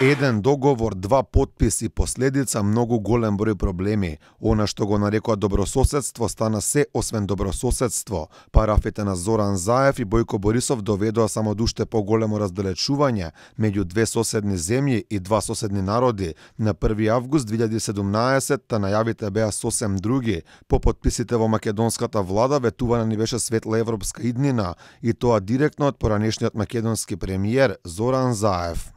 Еден договор, два потписи, последица многу голем број проблеми. Она што го нарекоа добрососедство стана се освен добрососедство. Парафите на Зоран Заев и Бојко Борисов доведоа само до уште поголемо разделечување меѓу две соседни земји и два соседни народи. На 1 август 2017 најавите беа сосем други. По потписите во македонската влада ветувана ни беше светла европска иднина и тоа директно од поранешниот македонски премиер Зоран Заев.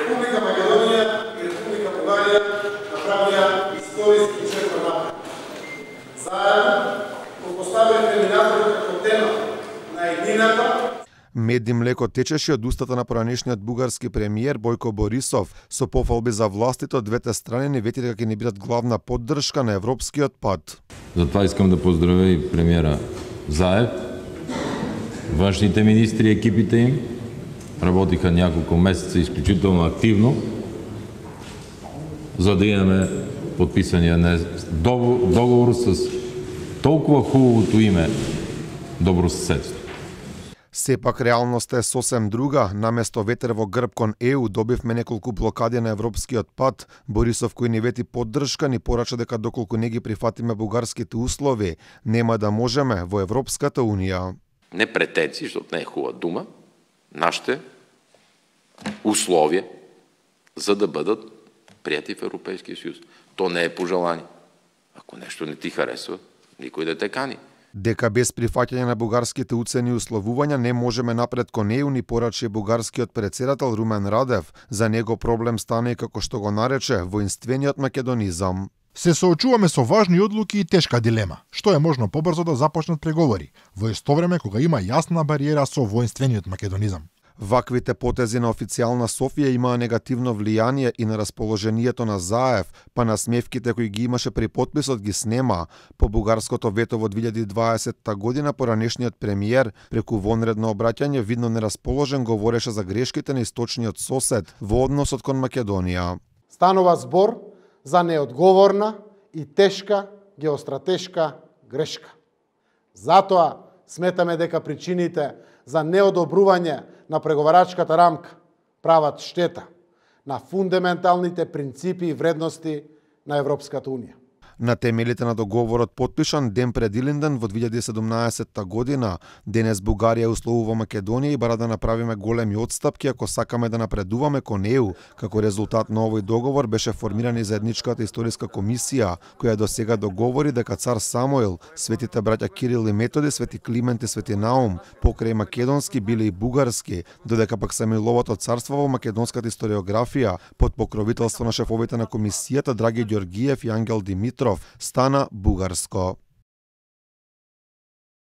Република Македонија и Република Бугарија направија историски чекор напред. Заедно го поставиле терминаторот како тема на еднината. Мед и млеко течеше од устата на поранешниот бугарски премиер Бојко Борисов со пофалби за властите од двете страни не вети дека ќе не бидат главна поддршка на европскиот пат. Затоа искам да поздравя и премиера Заев, външните министри и екипите им. Работиха няколко месеца изключително активно, за да имаме подписания договор с толкова хубавото име добрососедство. Сепак реалноста е сосем друга. Наместо ветер во грб кон ЕУ добивме неколку блокади на европскиот пат. Борисов кој не вети поддршка ни порача дека доколку не ги прифатиме бугарските услови, нема да можеме во Европската унија. Не претенции, защото не е хубава дума, нашите условия за да бъдат прияти в Европейския съюз. То не е пожелание. Ако нещо не ти харесва, никой да те кани. Дека без прифаќање на бугарските уцени и условувања не можеме напред кон ЕУ ни порачи бугарскиот председател Румен Радев. За него проблем стана и како што го нарече воинствениот македонизам. Се соочуваме со важни одлуки и тешка дилема. Што е можно побрзо да започнат преговори, во исто време кога има јасна бариера со воинствениот македонизам. Ваквите потези на официјална Софија имаа негативно влијание и на расположението на Заев, па на смевките кои ги имаше при потписот ги снема. По бугарското вето во 2020 година поранешниот премиер преку вонредно обраќање видно нерасположен говореше за грешките на источниот сосед во односот кон Македонија. Станува збор за неодговорна и тешка геостратешка грешка. Затоа сметаме дека причините за неодобрување на преговарачката рамка прават штета на фундаменталните принципи и вредности на Европската унија. На темелите на договорот потпишан ден пред Илинден во 2017 година, денес Бугарија условува Македонија и бара да направиме големи отстапки ако сакаме да напредуваме кон ЕУ. Како резултат на овој договор беше формирана и заедничката историска комисија, која до сега договори дека цар Самуил, светите браќа Кирил и Методи, свети Климент и свети Наум, покрај македонски биле и бугарски, додека пак Самуиловото царство во македонската историографија под покровителство на шефовите на комисијата Драги Ѓоргиев и Ангел Димитров стана бугарско.